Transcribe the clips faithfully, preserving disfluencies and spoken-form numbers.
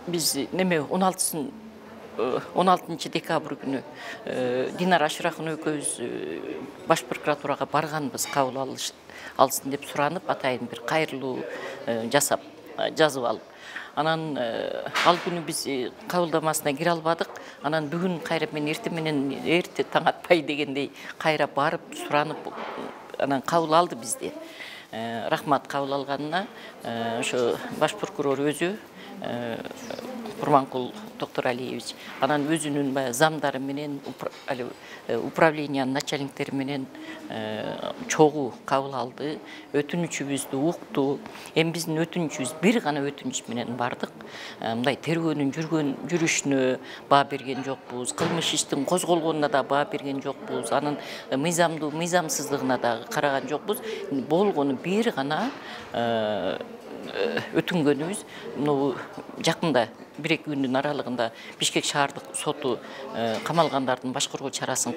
Биз неме он алтысын он алтынчы декабрь күнү Динара Ашыракын экөөбүз баш прокуратурага барганбыз, кабыл алсын деп суранып, атайын бир кайрылуу жасап, жазып алып. Анан ал күнү биз кабылдамасына кире албадык. Анан бүгүн кайра мен эртең менен эрте таң атпай дегендей кайра барып суранып, анан кабыл алды бизди. Рахмат кабыл алганына. Ошо баш прокурор өзү Курманкул Токторалиевич, анан өзүнүн баягы замдары менен, управлениянын начальниктери менен чогуу кабыл алды, өтүнүчүбүздү укту. Эми биздин өтүнүчүбүз бир гана өтүнүч менен бардык. Мындай тергөөнүн жүргөн жүрүшүнө баа берген жокпуз, кылмыш иштин козголгонуна да баа берген жокпуз, анын мыйзамдуу мыйзамсыздыгына да караган жокпуз. Болгону бир гана өтүнгөнүбүз мына жакында бир эки күндүн аралыгында Бишкек шаардык соту камалгандардын башкаруу чарасын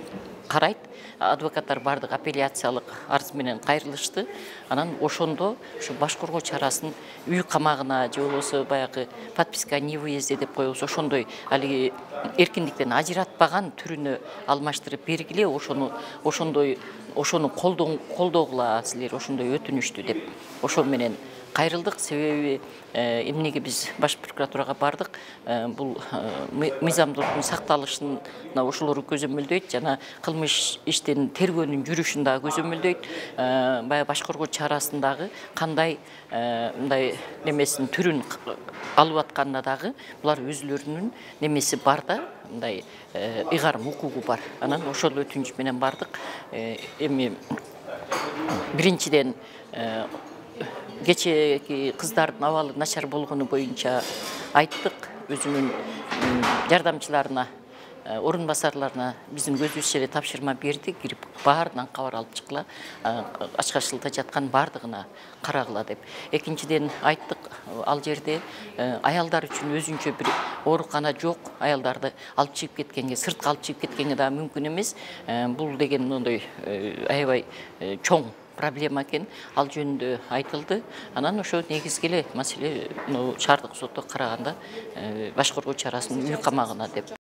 карайт. Адвокаттар бардык апелляциялык арыз менен кайрылышты. Анан ошондо ушу башкаруу чарасын үй камагына же болбосо баягы подписка о невыезде деп коебуз, ошондой алиги эркиндиктен ажыратпаган түрүнө алмаштырып бергиле, ошону ошондой ошону колдогула силер ошондой өтүнүштү деп ошол менен кайрылдык. Себеби эмнеге биз баш прокуратурага бардык? Бул мыйзамдуулуктун сакталышына ошолору көзөмөлдөйт, жана кылмыш иштин тергөөнүн жүрүшүн дагы көзөмөлдөйт. Баягы башкаруу чарасындагы кандай мындай немесин түрүн алып атканына дагы булар өзүлөрүнүн немеси бар да, мындай ыйгарым укугу бар. Анан ошол өтүнүч менен бардык. Эми биринчиден кечээки кыздардын абалы начар болгону боюнча айттык, өзүнүн жардамчыларына, орун басарларына биздин көзүбүзчө эле тапшырма берди, кирип баарынан кабар алып чыккыла, Ачкачылыкта жаткан баардыгына карагыла деп. Экинчиден айттык, ал жерде аялдар үчүн өзүнчө бир оорукана жок, аялдарды алып чыгып кеткенге, сыртка алып чыгып кеткенге да мүмкүн эмес. Бул деген мындай аябай чоң проблема экен, ал жөнүндө айтылды. Анан ошо негизги эле маселе шаардык сотто караганда башкаруу чарасын үй камагына деп.